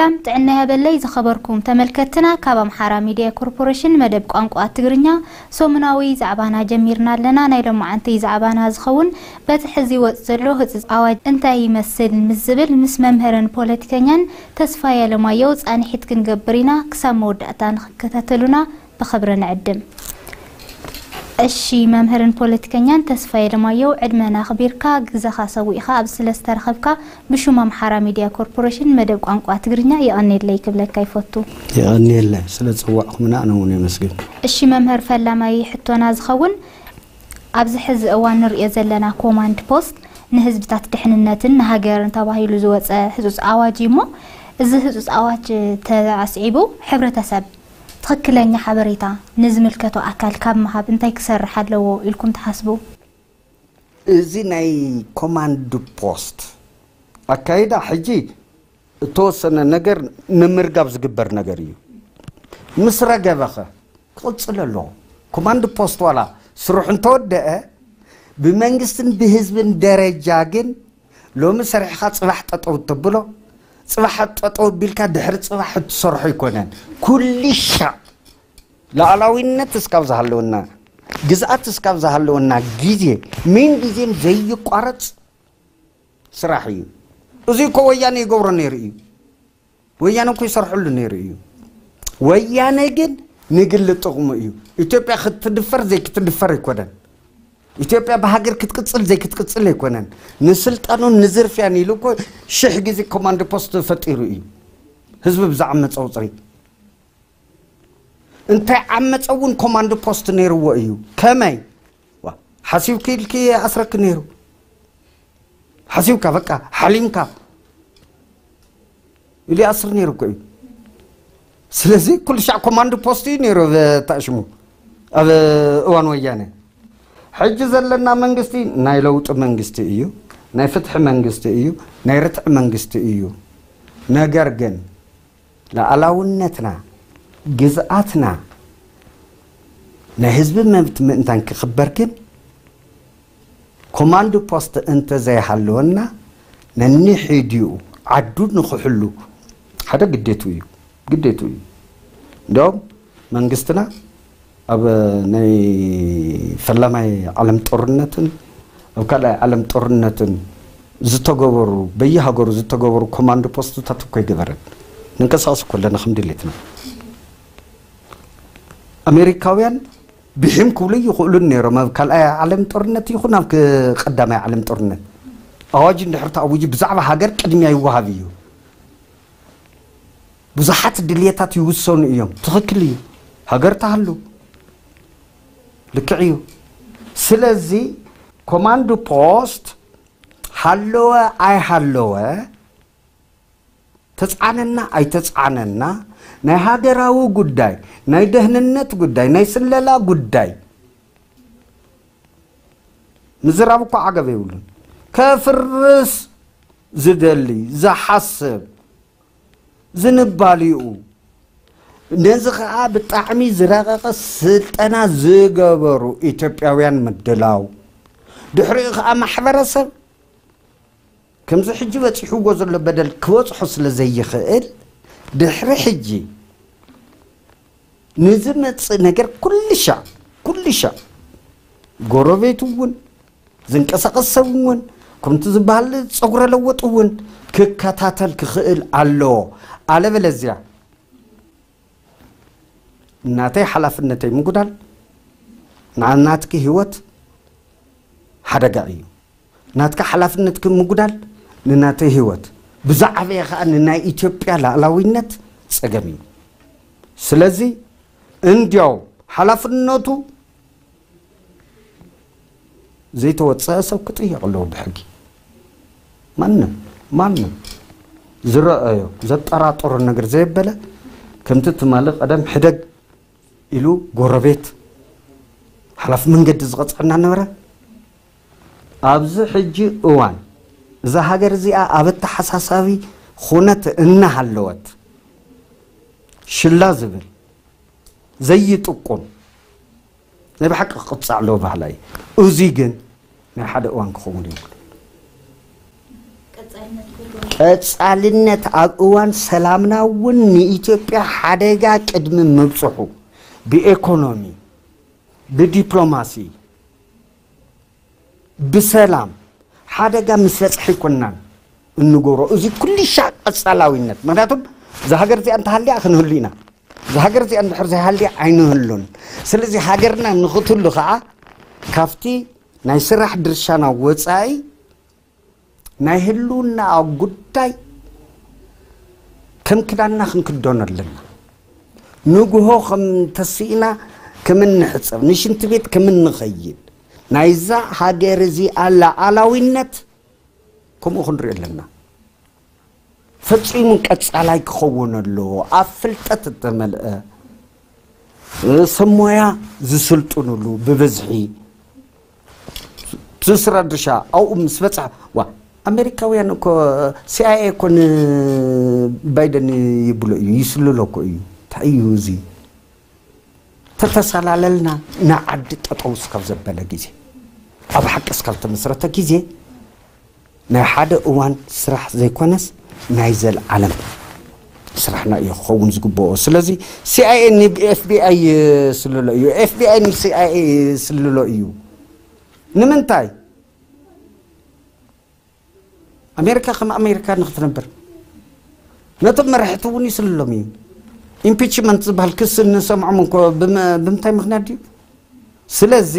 ሰላም ጥዕና ያበለይ ዝኸበርኩም ተመልከትና፣ ካብ ኣምሓራ ሚድያ ኮርፖሬሽን መደብ ቋንቋ ትግርኛ ሰሙናዊ ዛዕባና ጀሚርና ኣለና። ናይ ሎማዓንቲ ዛዕባና ዝኸውን በቲ ሕዚ ወፅ ዘሎ ህፁፅ ኣዋጅ እንታይ ይመስል ምስ ዝብል ምስ መምህርን ፖለቲከኛን ተስፋ ያለማየው ፃንሒት ክንገብር ኢና። ክሳብ መወዳእታ ንክከታተሉና ብኽብሪ ንዕድም። እሺ፣ መምህርን ፖለቲከኛን ተስፋ ያለማየው፣ ዕድመና ኣኽቢርካ ግዘኻ ሰዊእኻ ኣብ ስለዝተረኸብካ ብሹም ኣምሓራ ሚድያ ኮርፖሬሽን መደብ ቋንቋ ትግርኛ የቐኔለይ ክብለካ ይፈቱ። የቐኔለይ ስለ ዝፀዋዕኹምና ኣነ እውን የመስግን። እሺ መምህር፣ ፈላማይ ሕቶና ዝኸውን ኣብዚ ሕዚ እዋን ንሪኦ ዘለና ኮማንድ ፖስት ንህዝብታት ድሕንነትን ንሃገርን ተባሂሉ ዝወፀ ህፁፅ ኣዋጅ እዩ እሞ፣ እዚ ህፁፅ ኣዋጅ ተኣስዒቡ ሕብረተሰብ ትኽክለኛ ሓበሬታ ንዝምልከቶ ኣካል ካብ ምሃብ እንታይ ክሰርሕ ኣለዎ ኢልኩም ትሓስቡ? እዚ ናይ ኮማንድ ፖስት ኣካይዳ ሕጂ እተወሰነ ነገር ንምርጋብ ዝግበር ነገር እዩ። ምስ ረገበኸ ክቕፅል ኣለዎ። ኮማንድ ፖስት ዋላ ስርሑ እንተወደአ ብመንግስትን ብህዝብን ደረጃ ግን ሎሚ ሰሪሕኻ ፅባሕ ጠጠው እተብሎ፣ ፅባሕ ጠጠው ቢልካ ድሕሪ ፅባሕ እትሰርሖ ኣይኮነን። ኩልሻዕ ሉዓላዊነት እስካብ ዝሃለወና፣ ግዝኣት እስካብ ዝሃለወና ግዜ ምን ጊዜም ዘይቋረፅ ስራሕ እዩ። እዚ እኮ ወያነ ይገብሮ ነይሩ እዩ። ወያነ እኮ ይሰርሐሉ ነይሩ እዩ። ወያነ ግን ንግል ጥቕሙ እዩ። ኢትዮጵያ ክትድፈር ዘይክትድፈር ኣይኮነን። ኢትዮጵያ ብሃገር ክትቅፅል ዘይክትቅፅል ኣይኮነን። ንስልጣኑን ንዝርፍያን ኢሉ እኮ ሽሕ ግዜ ኮማንድ ፖስት ፈጢሩ እዩ። ህዝቢ ብዝዓመፀ ቁፅሪ እንታይ ዓመፀ እውን ኮማንድ ፖስት ነይርዎ እዩ። ከመይ ሓሲብኪ ኢልኪ ኣስረኪ ነይሩ። ሓሲብካ በቃ ሓሊምካ ኢሉ ይኣስር ነይሩ እኮ እዩ። ስለዚ ኩሉ ሻዕ ኮማንድ ፖስት እዩ ነይሩ ተኣሽሙ ኣብ እዋን ወያነ። ሕጂ ዘለና መንግስቲ ናይ ለውጢ መንግስቲ እዩ፣ ናይ ፍትሒ መንግስቲ እዩ፣ ናይ ርትዒ መንግስቲ እዩ። ነገር ግን ሉዓላውነትና፣ ግዝኣትና፣ ናይ ህዝቢ መብት ምእንታን ክኽበር ግን ኮማንድ ፖስት እንተዘይሃለወና ነኒሕድኡ ዓዱ ንኽሕሉ ሓደ ግዴቱ እዩ፣ ግዴቱ እዩ። እንዲያውም መንግስትና ኣብ ናይ ፈላማይ ዓለም ጦርነትን ኣብ ካልኣይ ዓለም ጦርነትን ዝተገበሩ በየሃገሩ ዝተገበሩ ኮማንድ ፖስትታት እኮ ይገበረን። ንንቀሳቀስ እኮ ኣለና ከም ድሌትና። ኣሜሪካውያን ብሒም ክብሉ ይኽእሉን ነይሮም ኣብ ካልኣይ ዓለም ጦርነት ይኹን ኣብ ቀዳማይ ዓለም ጦርነት ኣዋጅ እንድሕር ተኣዊጁ ብዛዕባ ሃገር ቅድሚያ ይወሃብ እዩ። ብዙሓት ድልየታት ይውሰኑ እዮም። ትኽክል እዩ። ሃገር ተሃሉ ልክዕ እዩ። ስለዚ ኮማንድ ፖስት ሃለወ ኣይሃለወ ተፃነና ኣይተፃነና ናይ ሃገራዊ ጉዳይ ናይ ደህንነት ጉዳይ ናይ ስለላ ጉዳይ ምዝራብ እኮ ዓገብ የብሉን። ከፍርስ ዝደሊ ዝሓስብ ዝንባሊኡ ነዚ ከዓ ብጣዕሚ ዝረቐቐ ስልጠና ዝገበሩ ኢትዮጵያውያን ምድላው ድሕሪኡ ከዓ ማሕበረሰብ ከምዚ ሕጂ በፂሕዎ ዘሎ በደል ክበፅሖ ስለ ዘይኽእል ድሕሪ ሕጂ ንዝመፅእ ነገር ኩልሻዕ ኩልሻዕ ጎረቤት እውን ዝንቀሳቐስ ሰብ እውን ከምቲ ዝበሃል ፀጉረ ለወጥ እውን ክከታተል ክኽእል ኣለዎ። ኣለበለዚያ ናተይ ሓላፍነተይ ምጉዳል ንናትኪ ህይወት ሓደጋ እዩ። ናትካ ሓላፍነትኪ ምጉዳል ንናተይ ህይወት ብዛዕበየ ከዓ ንናይ ኢትዮጵያ ላዕላዊነት ፀገም እዩ። ስለዚ እንዲያው ሓላፍነቱ ዘይተወፀአ ሰብ ክጥየቕ ኣለዎ ብሕጊ። ማንም ማንም ዝረኣዮ ዘጠራጥሮ ነገር ዘየበለ ከምቲ ትማሊ ቀደም ሕደግ ኢሉ ጎረቤት ሓላፊ መንገዲ ዝቐፅዐና ነበረ። ኣብዚ ሕጂ እዋን እዛ ሃገር እዚኣ ኣብ ኣተሓሳሳቢ ኩነት እናሃለወት ሽላ ዝብል ዘይጥቁም ናይ ብሓቂ ክቕፃዕ ኣለዎ ባህላ እዩ። እዚ ግን ናይ ሓደ እዋን ክኸውን የብሉ። ቀጻልነት ኣብ እዋን ሰላምና እውን ንኢትዮጵያ ሓደጋ ቅድሚ ምብጽሑ ብኤኮኖሚ፣ ብዲፕሎማሲ፣ ብሰላም ሓደጋ ምስ በጽሐ ኣይኮናን እንገብሮ። እዚ ኩሉ ሻዕ ቀጻላዊነት። ምኽንያቱም እዛ ሃገር እዚኣ እንተሃልያ ክንህሉ ኢና። እዛ ሃገር እዚኣ እንድሕር ዘይሃልያ ኣይንህሉን። ስለዚ ሃገርና ንኽትህሉ ከዓ ካብቲ ናይ ስራሕ ድርሻና ወጻኢ ናይ ህልውና ጉዳይ ከም ክዳንና ክንክደኖ ኣለና። ንግሆ ከም ተስኢና ከም እንሕጸብ፣ ንሽንቲ ቤት ከም እንኸይድ፣ ናይዛ ሃገር እዚኣ ሉዓላዊነት ከምኡ ክንሪኦ ኣለና። ፈጺሙ ቀጻላይ ክኸውን ኣለዎ። ኣብ ፍልጠት እተመልአ፣ ሰብ ሞያ ዝስልጥኑሉ ብብዝሒ፣ እቲ ስራሕ ድርሻ ኣብኡ ምስ በጽሐ፣ ዋ፣ ኣሜሪካውያን እኮ፣ ሲኣይኤ እኮ ንባይደን ይብሎ እዩ፣ ይስልሎ እኮ እዩ። እንታይ እዩ እዚ? ተተሰላለልና ንዓዲ ጠጠው እስካብ ዘበለ ግዜ፣ ኣብ ሓቂ እስካብ ተመስረተ ግዜ፣ ናይ ሓደ እዋን ስራሕ ዘይኮነስ ናይ ዘልዓለም ስራሕና እዩ ክኸውን ዝግብኦ። ስለዚ ሲኣይኤ ንኤፍቢኣይ ይስልሎ እዩ፣ ኤፍቢኣይ ንሲኣይኤ ይስልሎ እዩ። ንምንታይ? ኣሜሪካ ከም ኣሜሪካ ንክትነብር፣ ነቶም መራሕቲ እውን ይስልሎም እዩ። ኢምፒችመንት ዝበሃል ክስ እንሰምዖም እንኮ ብም-፣ ብምንታይ ምኽንያት ድዩ? ስለዚ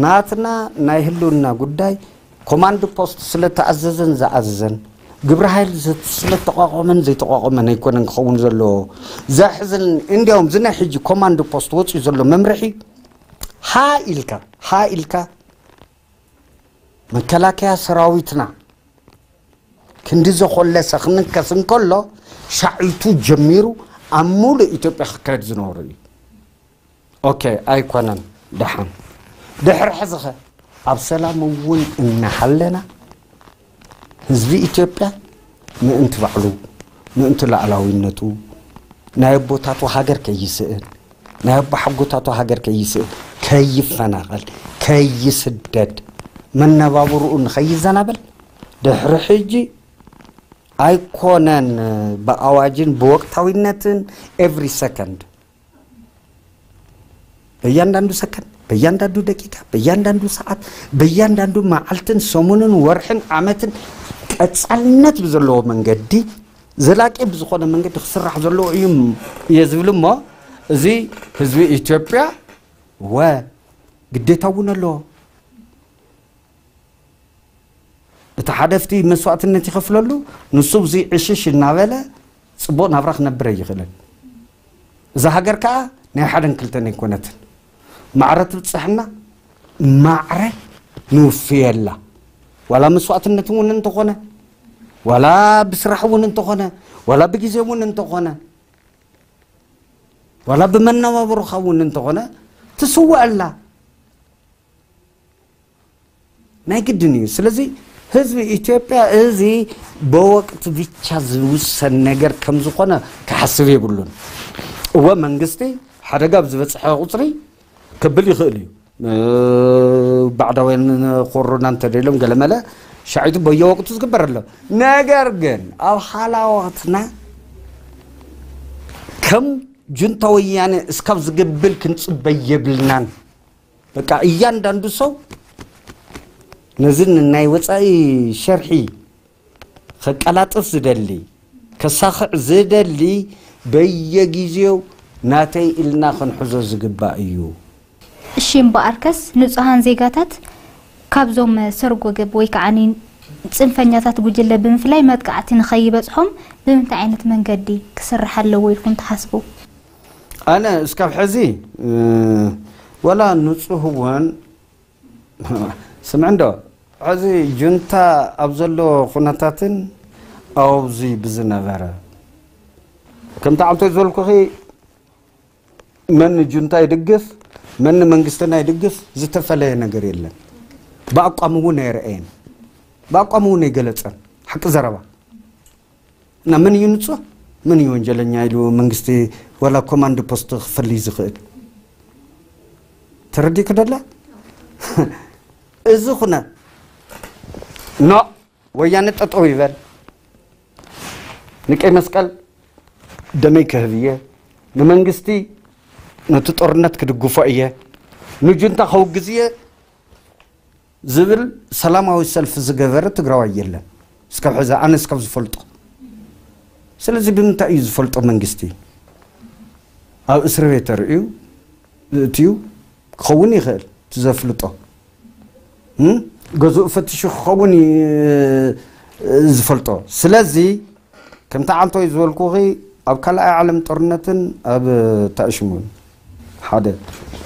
ናትና ናይ ህልውና ጉዳይ ኮማንድ ፖስት ስለተኣዘዘን ዝኣዘዘን፣ ግብረ ሓይል ዘ-፣ ስለተቋቋመን ዘይተቋቋመን ኣይኮነን ክኸውን ዘለዎ። ዘሕዝን እንዲያውም እዚ ናይ ሕጂ ኮማንድ ፖስት ወፂኡ ዘሎ መምርሒ ሃ ኢልካ፣ ሃ ኢልካ መከላከያ ሰራዊትና ክንዲ ዘኾለሰ ክንከስ እንከሎ ሻዒቱ ጀሚሩ ኣብ ሙሉእ ኢትዮጵያ ክካየድ ዝነበሩ እዩ። ኦኬ፣ ኣይኮነን። ደሓን ድሕሪ ሕዚ ኸ ኣብ ሰላም እውን እናሃለና ህዝቢ ኢትዮጵያ ምእንቲ ባዕሉ፣ ምእንቲ ሉዓላዊነቱ፣ ናይ ኣቦታቱ ሃገር ከይስእን፣ ናይ ኣቦሓጎታቱ ሃገር ከይስእን፣ ከይፈናቐል፣ ከይስደድ፣ መነባብርኡ ንኸይዘናበል ድሕሪ ሕጂ ኣይኮነን ብኣዋጅን ብወቅታዊነትን ኤቭሪ ሰከንድ በእያንዳንዱ ሰከንድ፣ በእያንዳንዱ ደቂቃ፣ በእያንዳንዱ ሰዓት፣ በእያንዳንዱ መዓልትን ሰሙንን ወርሕን ዓመትን ቀጻልነት ብዘለዎ መንገዲ፣ ዘላቂ ብዝኾነ መንገዲ ክስራሕ ዘለዎ እዩ እየ ዝብል እሞ፣ እዚ ህዝቢ ኢትዮጵያ ወ ግዴታ እውን ኣለዎ። እቲ ሓደ ኣብቲ መስዋእትነት ይኸፍለሉ፣ ንሱ እዚ ዕሽሽ እናበለ ጽቡቕ ናብራ ክነብር ኣይኽእልን። እዛ ሃገር ከኣ ናይ ሓደን ክልተን ኣይኮነትን። ማዕረ ትብጽሕና፣ ማዕረ ንውፍየላ። ዋላ መስዋእትነት እውን እንተኾነ፣ ዋላ ብስራሕ እውን እንተኾነ፣ ዋላ ብግዜ እውን እንተኾነ፣ ዋላ ብመነባብሮኻ እውን እንተኾነ፣ ትስወኣላ። ናይ ግድን እዩ። ስለዚ ህዝቢ ኢትዮጵያ እዚ በወቅት ብቻ ዝውሰን ነገር ከም ዝኾነ ክሓስብ የብሉን። እወ መንግስቲ ሓደጋ ኣብ ዝበፅሐ ቁፅሪ ክብል ይኽእል እዩ። እ፣ ባዕዳውያን ኮሮና እንተደልዮም ገለመለ ሻዒቱ በየወቅቱ ዝግበር ኣሎ። ነገር ግን ኣብ ሓላዋትና ከም ጁንታ ወያነ እስካብ ዝግብል ክንፅበይ የብልናን። በቃ እያንዳንዱ ሰው ነዝን ናይ ወፃኢ ሸርሒ ከቀላጥፍ ዝደሊ፣ ከሳኽዕ ዝደሊ በየጊዜው ናተይ ኢልና ክንሕዞ ዝግባእ እዩ። እሺ፣ እምበኣርከስ ንጹሃን ዜጋታት ካብዞም ሰርጎ ገብ ወይ ከዓ ጽንፈኛታት ጉጅለ ብምፍላይ መጥቃዕቲ ንኸይበጽሖም ብምንታይ ዓይነት መንገዲ ክስራሕ ኣለዎ ኢልኩም ትሓስቡ? ኣነ እስካብ ሕዚ፣ እ፣ ወላ ንጹህ እውን ስምዕ እንዶ፣ ሕዚ ጁንታ ኣብ ዘሎ ኩነታትን ኣብዚ ብዝነበረ፣ ከምቲ ዓምቶይ ዝበልኩኺ፣ መን ጁንታ ይድግፍ፣ መን መንግስትና ይድግፍ ዝተፈለየ ነገር የለን። ብኣቋም እውን ኣይረኣየን፣ ብኣቋም እውን ኣይገለጸን። ሓቂ ዘረባ። እና መን እዩ ንጹህ፣ መን እዩ ወንጀለኛ ኢሉ መንግስቲ ዋላ ኮማንድ ፖስት ክፈልይ ዝኽእል? ተረዲእኪ ደላ? እዚ ኩነ ኖ፣ ወያነ ጠጠው ይበል፣ ንቀይ መስቀል ደመይ ክህብ እየ፣ ንመንግስቲ ነቲ ጦርነት ክድግፎ እየ፣ ንጁንታ ከውግዝ እየ ዝብል ሰላማዊ ሰልፊ ዝገበረ ትግራዋይ የለን። እስካብ ሕዚ ኣነ እስካብ ዝፈልጦ። ስለዚ ብምንታይ እዩ ዝፈልጦ መንግስቲ? ኣብ እስር ቤት ተርእዩ እትዩ ክኸውን ይኽእል፣ እቲ ዘፍልጦ። እም? ገዝኡ ፈትሹ ክኸውን ይ-፣ ዝፈልጦ። ስለዚ ከምቲ ዓንቶይ ዝበልኩኺ ኣብ ካልኣይ ዓለም ጦርነትን ኣብ ታእሽሙን ሓደ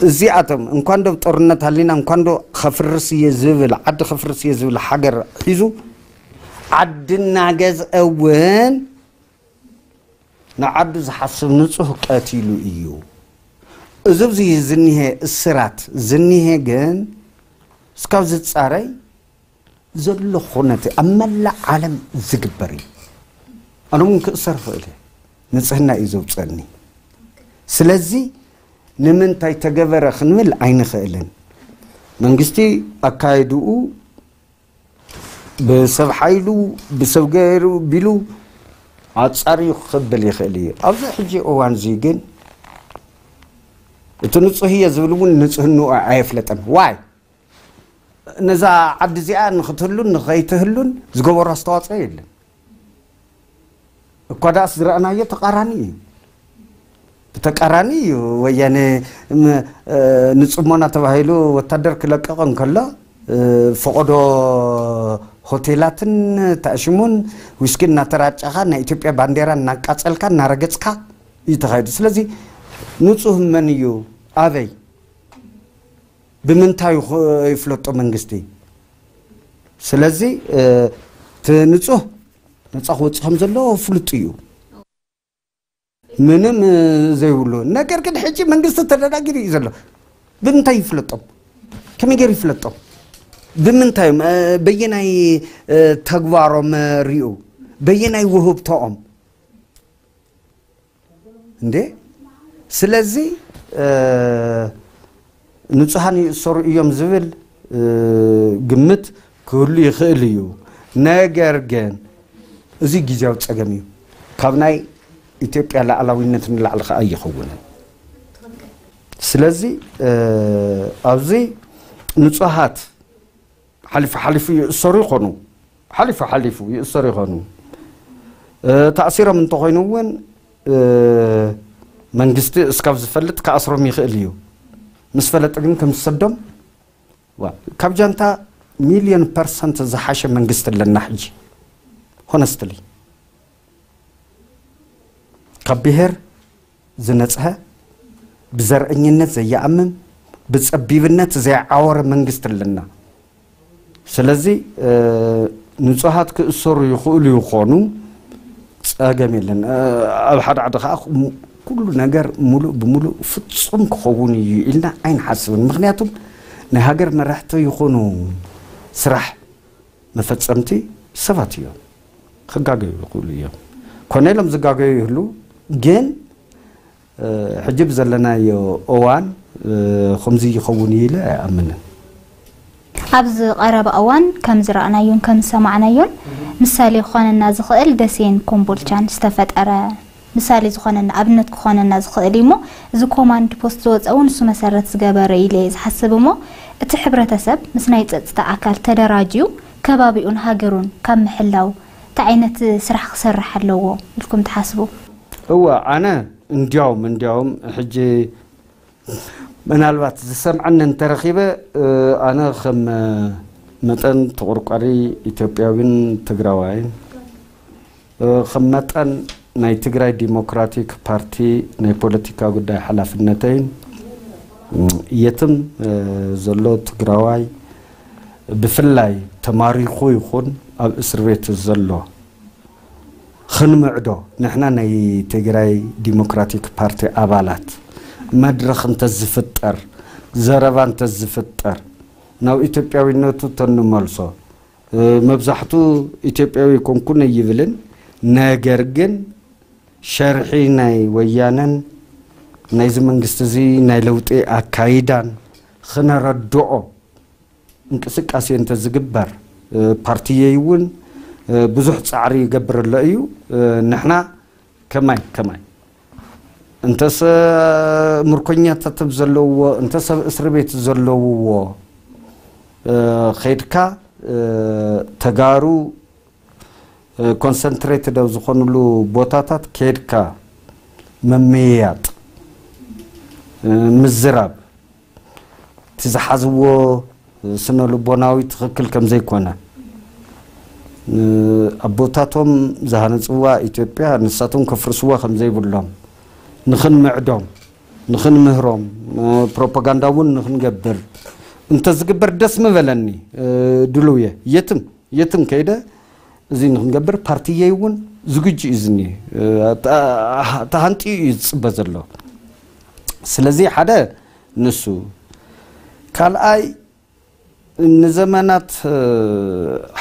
እዚኣቶም እንኳን ዶ ጦርነት ሃሊና እንኳን ዶ ከፍርስ እየ ዝብል ዓዲ ከፍርስ እየ ዝብል ሃገር ሒዙ ዓዲ እናገዝአ እውን ንዓዱ ዝሓስብ ንጹህ ቀቲሉ እዩ። እዚ ኣብዚ ዝኒሄ እስራት ዝኒሄ ግን እስካብ ዝጻረይ ዘሎ ኩነተ ኣብ መላእ ዓለም ዝግበር እዩ። ኣነ እውን ክእሰር እኽእል እየ። ንጽህና እዩ ዘውጸኒ። ስለዚ ንምንታይ ተገበረ ክንብል ኣይንኽእልን። መንግስቲ ኣካይድኡ ብሰብ ሓይሉ ብሰብ ገይሩ ቢሉ ኣጻርዩ ክብል ይኽእል እዩ። ኣብዚ ሕጂ እዋን እዚ ግን እቲ ንጹህ እየ ዝብል እውን ንጽህንኡ ኣየፍለጠን። ዋይ ነዛ ዓዲ እዚኣ ንክትህሉን ንኸይትህሉን ዝገበሮ ኣስተዋፅኦ የለን። እኳ ደኣስ ዝረኣናዮ ተቃራኒ እዩ። ብተቃራኒ እዩ። ወያነ ም-፣ እ፣ ንጽሞና ተባሂሉ ወታደር ክለቅቕ እንከሎ፣ እ፣ ፈቆዶ ሆቴላትን ታእሽሙን ዊስኪ እናተራጨኻ ናይ ኢትዮጵያ ባንዴራ እናቃጸልካ እናረገጽካ እዩ ተኻይዱ። ስለዚ ንጹህ መን እዩ? ኣበይ? ብምንታይ ይኹ-፣ ይፍለጦ መንግስቲ? ስለዚ፣ እ፣ እቲ ንጹህ ነጻ ክወጽእ ከም ዘለዎ ፍሉጥ እዩ። ምንም፣ እ፣ ዘይብሉ። ነገር ግን ሕጂ መንግስቲ ተደናጊሩ እዩ ዘሎ። ብምንታይ ይፍለጦም? ከመይ ገይሩ ይፍለጦም? ብምንታይ፣ እ፣ በየናይ፣ እ፣ ተግባሮም፣ እ፣ ሪኡ? በየናይ ውህብቶኦም? እንዴ? ስለዚ፣ እ፣ ንጹሃን ይእሰሩ እዮም ዝብል፣ እ፣ ግምት ክህሉ ይኽእል እዩ። ነገር ግን እዚ ግዜያዊ ጸገም እዩ። ካብ ናይ ኢትዮጵያ ሉዓላዊነት ንላዕሊ ከኣ ኣይኸውንን። ስለዚ፣ እ፣ ኣብዚ ንጹሃት ሓሊፉ ሓሊፉ ይእሰሩ ይኾኑ። ሓሊፉ ሓሊፉ ይእሰሩ ይኾኑ። እ፣ ተኣሲሮም እንተኾይኑ እውን፣ እ፣ መንግስቲ እስካብ ዝፈልጥ ክኣስሮም ይኽእል እዩ። ምስ ፈለጠ ግን ከም ዝሰዶም፣ ዋ፣ ካብ ጃንታ ሚልዮን ፐርሰንት ዝሓሸ መንግስቲ ኣለና ሕጂ። ሆነስትሊ። ካብ ብሄር ዝነጽሀ፣ ብዘርእኝነት ዘይኣምን፣ ብጸቢብነት ዘይዓወረ መንግስቲ ኣለና። ስለዚ፣ እ፣ ንጹሃት ክእሰሩ ይኽእሉ ይኾኑ፣ ጸገም የለን። እ፣ ኣብ ሓደ ዓዲ ከኣ ኩ-፣ ኩሉ ነገር ሙሉእ ብሙሉእ ፍጹም ክኸውን እዩ ኢልና ኣይንሓስብን። ምኽንያቱም ናይ ሃገር መራሕቲ ይኹኑ ስራሕ መፈጸምቲ ሰባት እዮም። ክጋገዩ ይኽእሉ እዮም። ኮነ ኢሎም ዝጋገዩ ይህሉ፣ ግን፣ እ፣ ሕጂ ብዘለናዮ እዋን፣ እ፣ ከምዚ ይኸውን እዩ ኢለ ኣይኣምንን። ኣብዚ ቀረባ እዋን ከም ዝረኣናዮን ከም ዝሰማዕናዮን ምሳሌ ክኾነና ዝኽእል ደሴን ኮምቦልቻን ዝተፈጠረ ምሳሌ ዝኾነና ኣብነት ክኾነና ዝኽእል እዩ እሞ፣ እዚ ኮማንድ ፖስት ዝወፀ እውን ንሱ መሰረት ዝገበረ ኢለ እየ ዝሓስብ እሞ፣ እቲ ሕብረተሰብ ምስ ናይ ፀፅታ ኣካል ተደራጅዩ ከባቢኡን ሃገሩን ካብ ምሕላው እንታይ ዓይነት ስራሕ ክሰርሕ ኣለዎ ኢልኩም ትሓስቡ? እወ፣ ኣነ እንዲያውም፣ እንዲያውም ሕጂ ምናልባት ዝሰምዐኒ እንተረኺበ፣ እ፣ ኣነ ከም መጠን ተቆርቋሪ ኢትዮጵያዊን ትግራዋይን፣ እ፣ ከም መጠን ናይ ትግራይ ዲሞክራቲክ ፓርቲ ናይ ፖለቲካ ጉዳይ ሓላፍነተይን፣ እ፣ የትም፣ እ፣ ዘሎ ትግራዋይ ብፍላይ ተማሪኹ ይኹን ኣብ እስር ቤት ዘሎ ክንምዕዶ፣ ንሕና ናይ ትግራይ ዲሞክራቲክ ፓርቲ ኣባላት መድረኽ እንተዝፍጠር፣ ዘረባ እንተዝፍጠር፣ ናብ ኢትዮጵያዊነቱ ተንመልሶ፣ እ፣ መብዛሕቱ ኢትዮጵያዊ ኣይኮንኩን ኣይብልን፣ ነገር ግን ሸርሒ ናይ ወያነን ናይዚ መንግስቲ እዚ ናይ ለውጢ ኣካይዳን ክነረድኦ እንቅስቃሴ እንተዝግበር፣ እ፣ ፓርትየይ እውን ብዙሕ ፃዕሪ ይገብር ኣሎ እዩ። ንሕና ከማይ ከማይ እንተሰ ምርኮኛታት ዘለውዎ፣ እንተሰብ እስሪ ቤት ዘለውዎ ኸይድካ ተጋሩ ኮንሰንትሬትድ ኣብ ዝኾኑሉ ቦታታት ከይድካ ምምይያጥ፣ ምዝራብ፣ እቲ ዝሓዝዎ ስነ ልቦናዊ ትኽክል ከም ዘይኮነ፣ ኣቦታቶም ዝሃነፅዋ ኢትዮጵያ ንሳቶም ከፍርስዋ ከም ዘይብሎም ንኽንምዕዶም፣ ንኽንምህሮም፣ ፕሮፓጋንዳ እውን ንኽንገብር እንተዝግበር ደስ ምበለኒ። ድሉው እየ። የትም የትም ከይደ እዚ ንኽንገብር ፓርቲየይ እውን ዝግጁ እዩ ዝኒ ተሃንጢኡ እዩ ዝፅበ ዘሎ። ስለዚ ሓደ ንሱ፣ ካልኣይ ንዘመናት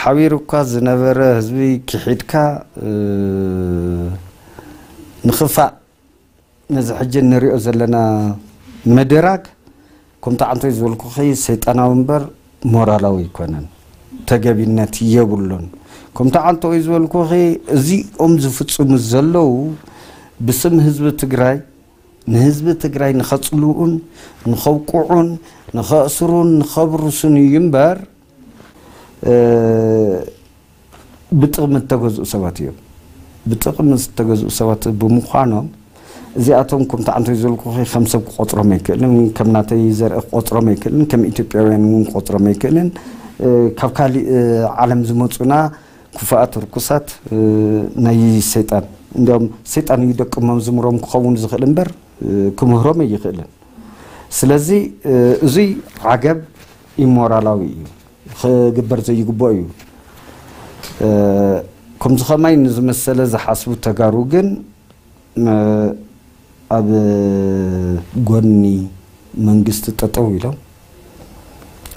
ሓቢሩ እኳ ዝነበረ ህዝቢ ክሒድካ ንኽፋእ ነዚ ሕጂ እንሪኦ ዘለና ምድራግ ከምቲ ዓንቶይ ዝበልኩኺ ሰይጣናዊ እምበር ሞራላዊ ኣይኮነን፣ ተገቢነት የብሉን። ከምቲ ዓንቶይ ዝበልኩኺ እዚኦም ዝፍፅሙ ዘለዉ ብስም ህዝቢ ትግራይ ንህዝቢ ትግራይ ንኸፅልኡን ንኸብቅዑን ንኸእስሩን ንኸብርሱን እዩ እምበር ብጥቕሚ እተገዝኡ ሰባት እዮም። ብጥቕሚ ዝተገዝኡ ሰባት ብምዃኖም እዚኣቶም ከምቲ ዓንቶይ ዝበልኩኺ ከም ሰብ ክቆፅሮም ኣይክእልን፣ ከም ናተይ ዘርኢ ክቆፅሮም ኣይክእልን፣ ከም ኢትዮጵያውያን እውን ክቆፅሮም ኣይክእልን። ካብ ካሊእ ዓለም ዝመፁና ክፉኣት ርኩሳት ናይ ሰይጣን፣ እንዲያውም ሰይጣን እዩ ደቂ መዝሙሮም ክኸውን ዝኽእል እምበር ክምህሮም ኣይኽእልን። ስለዚ እዙይ ዓገብ ኢሞራላዊ እዩ፣ ክግበር ዘይግብኦ እዩ። ከምዚ ከማይ ንዝመሰለ ዝሓስቡ ተጋሩ ግን ኣብ ጎኒ መንግስቲ ጠጠው ኢሎም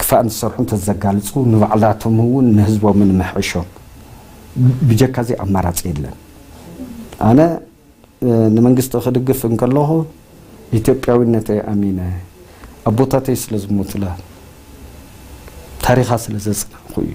ክፋእ ንሰርሑ እንተዘጋልፁ ንባዕላቶም እውን ንህዝቦምን ምሕሾም። ብጀካ እዚ ኣማራፂ የለን። ኣነ ንመንግስቲ ክድግፍ እንከለኹ ኢትዮጵያዊነተይ ኣሚነ፣ ኣቦታተይ ስለ ዝሞቱላ፣ ታሪኻ ስለ ዘጽናዕኩ እዩ።